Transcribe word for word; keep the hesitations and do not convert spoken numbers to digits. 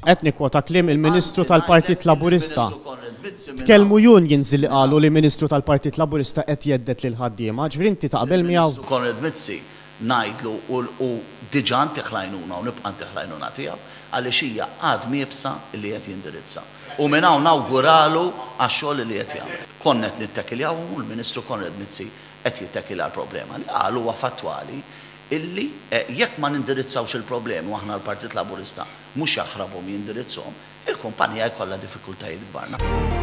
Qed nikkwota kliem il-Ministru tal-Partit Laburista. Tkellmu unions li qalu li Ministru tal-Partit Laburista qed jhedded lil ħaddiema, ġifieri inti taqbel miegħu? Konrad Mizzi ngħidlu u diġà ntih l-għajnuna u nibqa' ntih l-għajnuna tiegħu għaliex hija għadma iebsa li qed jindirizza. U minn hawn nawguralu għax-xogħol li qed jagħmel. Konna qed nittekiljaw u l-Ministru Konrad Mizzi qed jittekilja l-problema. Li qal huwa fattwali illi jekk ma nindirizzawx il-problemi, u aħna l-Partit Laburista mhux jaħrabhom, jindirizzhom, il-kumpanija jkollha diffikultajiet kbar.